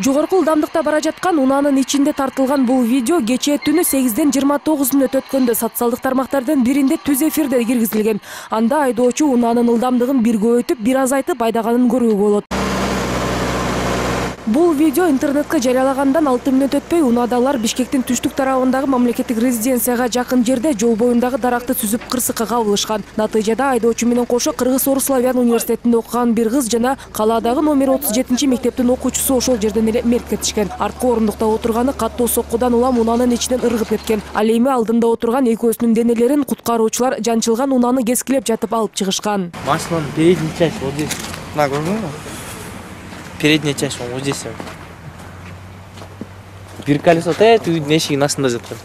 Жогорку ылдамдыкта бара жаткан унаанын ичинде тартылган бул видео кечээ түнү 8ден 29 мүнөт өткөндө социалдык тармактардын биринде түз эфирде киргизилген. Анда айдоочу унаанын ылдамдыгын бир көбөйтүп, бир азайтып айдаганын көрүүгө болот. Бул видео интернетке жарыялагандан 6 мүнөт өтпөй унаадалар Бишкектин түштүк тарабындагы мамлекеттик резиденцияга жакын жерде жол боюндагы даракты сүзүп кырсыкка кабылышкан. Натыйжада айдоочу менен кошо Кыргыз-Орус славян университетинде окуган бир кыз жана калаадагы номер 37 мектептин окуучусу ошол жерден эле мерт кетишкен. Арткы орундукта отурганы каттуу соккудан улам унаанын ичинен ыргып кеткен. Ал эми алдында отурган экөөсүнүн денелерин куткаруучулар жанчылган унааны кескилеп жатып алып чыгышкан. Машинанын передний часть вот здесь. На, передняя часть вот здесь. Бир колесо тет үйдүн эшигинин астында жаткан.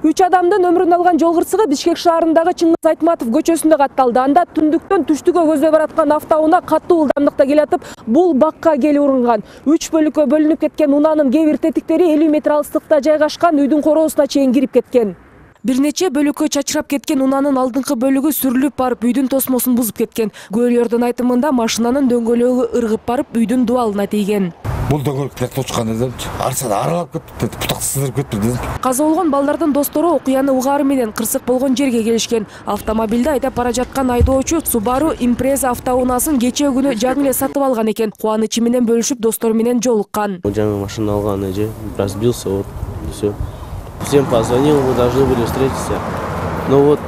3 адамдын өмүрүн алган жол кырсыгы Бишкек шаарындагы Чыңгыз Айтматов көчөсүндө катталды. Анда түндүктөн түштүккө көздөй бараткан автоунаа каттуу ылдамдыкта келатып, бул бакка келип уранган. 3 бөлүккө бөлүнүп кеткен унаанын кээ бир тетиктери 50 метр алыстыкта жайгашкан үйдүн короосуна чейин кирип кеткен. Бир нече бөлүккө чачырап кеткен унаанын алдыңкы бөлүгү сүрүлүп барып үйдүн тосмосун бузуп кеткен. Күбөлөрдүн айтымында машинанын дөңгөлөгү ыргып барып үйдүн дубалына тийген. Бул дөңгөлөктө точкан эдим. Арсада аралап кетти, бутак сыздырып кетти дедим. Каза болгон балдардын достору окуяны угаары менен кырсык болгон жерге келишкен. Автомобилде айдап бара жаткан айдоочу Subaru Impreza автоунаасын кечээ күнү жаңы эле сатып алган экен. Кубанычы менен бөлүшүп достору менен жолуккан. Жаңы машина алган эже, разбился, вот всё. Всем позвонил, мы должны были встретиться. Но вот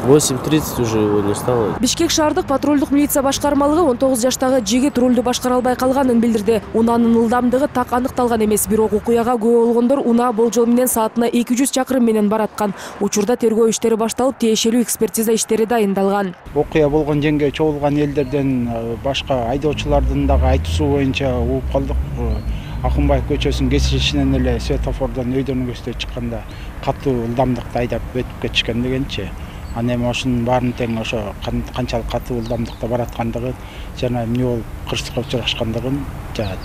8:30 уже его не стало. Бишкек шаардык патрулдук милиция башкармалыгы 19 жаштагы жигит рулду башкара албай калганын билдирди. Унаанын ылдамдыгы так аныкталган эмес, бирок окуяга күбө болгондор унаа болжол менен саатына 200 чакырым менен бараткан. Учурда тергөө иштери башталып, тиешелүү экспертиза иштери дайындалган. Окуя болгон жерге чогулган элдерден башка айдоочулардын дагы айтуусу боюнча угуп калдык. Акынбаев көчөсүнүн кесишинен эле светофордон өйдөрүн көздөй чыкканда каттуу ылдамдыкта айдап өтүп кетишкен дегенчи. Аны эми ошонун баарын тең ошо канчалык каттуу ылдамдыкта бараткандыгын жана эмне болуп кырсыкка учурашкандыгын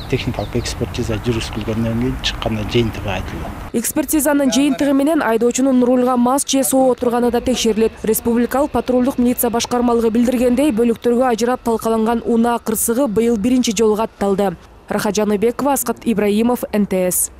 техникалык экспертиза жүргүзүлгөндөн кийин чыкканда жыйынтыгы айтылды. Экспертизанын жыйынтыгы менен айдоочунун рулга мас же соо отурганы да текшерилет. Республикалык патрулдук милиция башкармалыгы билдиргендей, бөлүктөргө ажырап талкаланган унаа кырсыгы быйыл биринчи жолу катталды. Рахат Жаныбекова, Аскат Ибраимов, НТС.